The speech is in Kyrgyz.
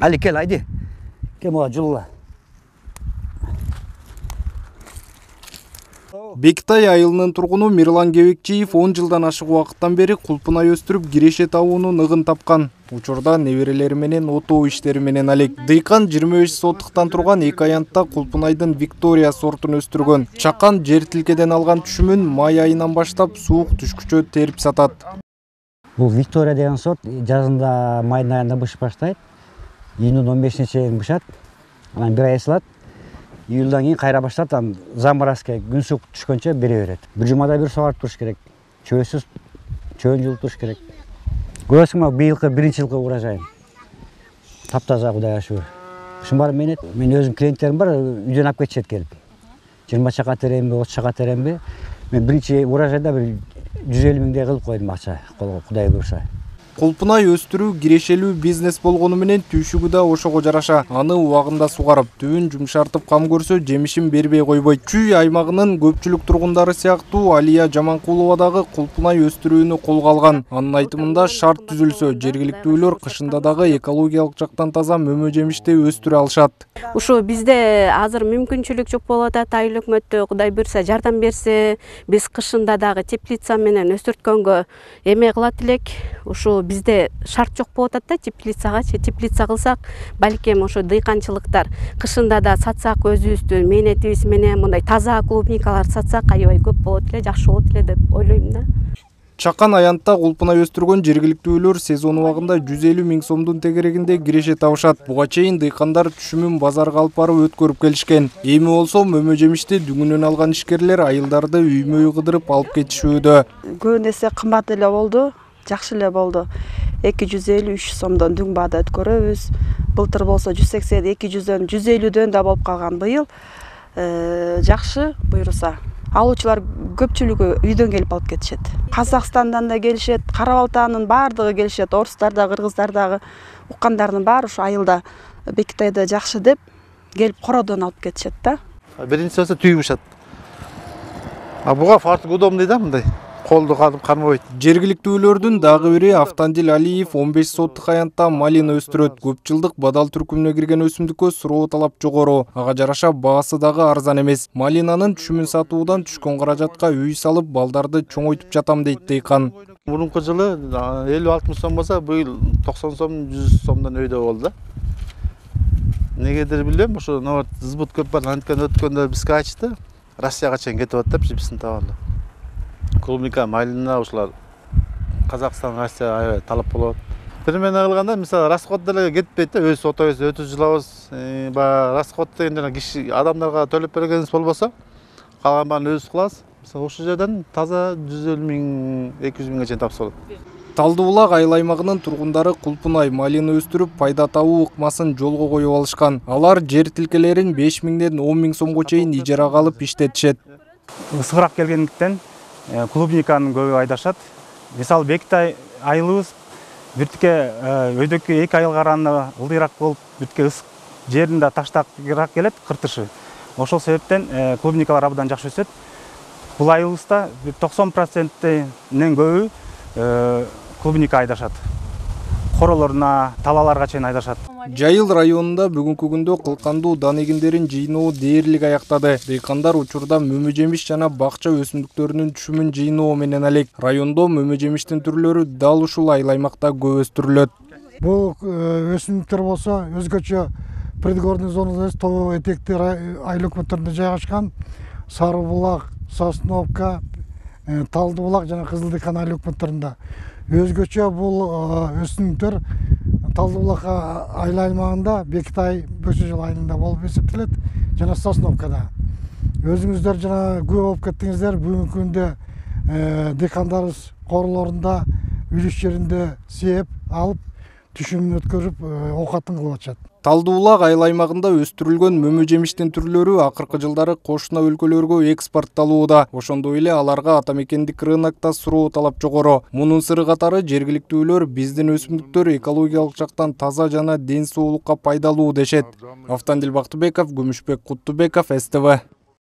Али, кел, айди. Кел, мага жулула. Бектай айылынын тургуну Мирлан Кебекчиев 10 жылдан ашык убакыттан бери кулпунай өстүрүп киреше табуунун ыгын тапкан. Учурда неберелери менен отоо иштери менен алек. Дыйкан 25 соттуктан турган 2 аянтта кулпунайдын Виктория сортун өстүргөн. Чакан жер тилкеден алган түшүмүн май айынан баштап суук түшкүчө терип сатат. Бул Виктория деген сорт жазында майдын айында бышып баштайт. Июндун 15-ине чейин бышат. Анан бир ай салат. Июлдан кийин кайра баштап, заморозка күн суук түшкөнчө бере берет. Бир жумада бир сугарып туруш керек. Чөйсүз чөйүн жууп туруш керек. Көрөсүңбү, быйылкы биринчи жылкы урожайым. Таптаза, Кудайга шүгүр. Ушун мен өзүм клиенттерим бар, үйдөн алып кетишет келип. 20 чака теремби, 30 чака теремби. Мен биринчи урожайда бир 150 миңдей кылып койдум акча, Кудай буюрса. Кулпунай өстүрүү кирешелүү бизнес болгону менен түйшүгү да ошого жараша. Аны убагында сугарып, түбүн жумшартып кам көрсө, жемишин бербей койбойт. Чүй аймагынын көпчүлүк тургундары сыяктуу Алия Жаманкулова дагы кулпунай өстүрүүнү колго алган. Анын айтымында шарт түзүлсө, жергиликтүүлөр кышында дагы экологиялык жактан таза мөмө жемишти өстүрө алышат. Ушу бизде азыр мүмкүнчүлүк жок болуп атат. Айыл өкмөттө Кудай буюрса жардам берсе, биз кышында дагы теплица менен өстүрткөнгө эме кылат элек. Ушу бизде шарт жок болуп атат да, теплица кылсак, балким ошо дыйканчылыктар кышында да сатсак, өзүбүздүн мээнетибиз менен мындай таза клубникалар сатсак, аябай көп болот эле, жакшы болот эле деп ойлойм да. Чакан аянтта кулпунай өстүргөн жергиликтүүлөр сезон убагында 150 миң сомдун тегерегинде киреше табышат. Буга чейин дыйкандар түшүмүн базарга алып барып өткөрүп келишкен. Эми болсо мөмө жемишти дүңүнөн алган ишкерлер айылдарды үймө-үй кыдырып алып кетишүүдө. Көбүн эсе кымбат эле болду, жакшы эле болду. 250-300 сомдон дүң баада өткөрөбүз. Былтыр болсо 180, 200дөн, 150дөн да болуп калган. Быйыл жакшы буюрса. Алуучулар көпчүлүгү үйдөн келип алып кетишет. Казакстандан да келишет, Кара Балтаанын баардыгы келишет, орустар да, кыргыздар дагы, уккандардын баары ушу айылда Бектайда жакшы деп келип кородон алып кетишет да. Биринчи болсо түйүп бушат. Буга фартук удобный да, мындай. Колду кармабайт. Жергиликтүүлөрдүн дагы бири Автандил Алиев 15 соттук аянтта малина өстүрөт. Көп жылдык бадал түркүмүнө кирген өсүмдүккө суроо талап жогору. Ага жараша баасы дагы арзан эмес. Малинанын түшүмүн сатуудан түшкөн каражатка үй салып, балдарды чоңойтуп жатам дейт дыйкан. Мурунку жылы 50-60 сом болсо, быйыл 90 сом, 100 сомдон өйдө болду да. Негедир билбейм, ошо збут көп бар, анткени өткөндө бизге ачты. Россияга чейин кетип атат, биздин табалы. Клубника, малина ушулар Казакстан, Россия аябай талап болот. Примерно кылганда, мисалы, расход деле кетпейт да, өз отобуз өтүп жылабыз. Баягы расход деген жана киши адамдарга төлөп бергенибиз болбосо, калган баарын өзүбүз кылабыз. Мисалы, ушул жерден таза 150 миң, 200 миңге чейин тапса болот. Талды Булак айыл аймагынын тургундары кулпунай, малина өстүрүп, пайда табуу ыкмасын жолго коюп алышкан. Алар жер тилкелерин 5 миңден 10 миң сомго чейин ижарага алып иштетишет. Ысыгыраак келгендиктен клубниканы көбү айдашат. Мисалы, Бектай айылыбыз биртке өйдөккө 2 айыл каранына ылдыйраак болуп, биртке ысык жеринде таштакыраак келет, кыртышы. Ошол себептен клубникалар абдан жакшы өсөт. Бул айылыбызда 90%нен көбү клубника айдашат. Королоруна, талаларга чейин айдашат. Жайыл районунда бүгүнкү күндө кылкандуу дан эгиндерин жыйноо дээрлик аяктады. Дыйкандар учурда мөмө жемиш жана бакча өсүмдүктөрүнүн түшүмүн жыйноо менен алек. Райондо мөмө жемиштин түрлөрү дал ушул айыл аймакта көп өстүрүлөт. Бул өсүмдүктөр болсо өзгөчө предгорный зонада эмес, тоо этекти айыл өкмөттөрүндө жайгашкан. Сары Булак, Сосновка, Талды Булак жана Кызыл Дыйкан айыл өкмөттөрүндө. Өзгөчө бул өсүмдүктөр Талды Булак айыл аймагында Бектай Бөксөжөл айылында болуп эсептелет жана Сосновкада. Өзүңүздөр жана күбө болуп кеттиңиздер, бүгүнкү күндө дыйкандарыбыз королорунда, үлүш жеринде сээп алып, түшүмүн өткөрүп, оокатын кылып атышат. Талды Булак айыл аймагында өстүрүлгөн мөмө жемиштин түрлөрү акыркы жылдары кошуна өлкөлөргө экспортталууда. Ошондой эле аларга ата мекендик рынокто суроо талап жогору. Мунун сыры катары жергиликтүүлөр биздин өсүмдүктөр экологиялык жактан таза жана ден соолукка пайдалуу дешет. Автандил Бактыбеков, Күмүшбек Куттубеков, СТВ.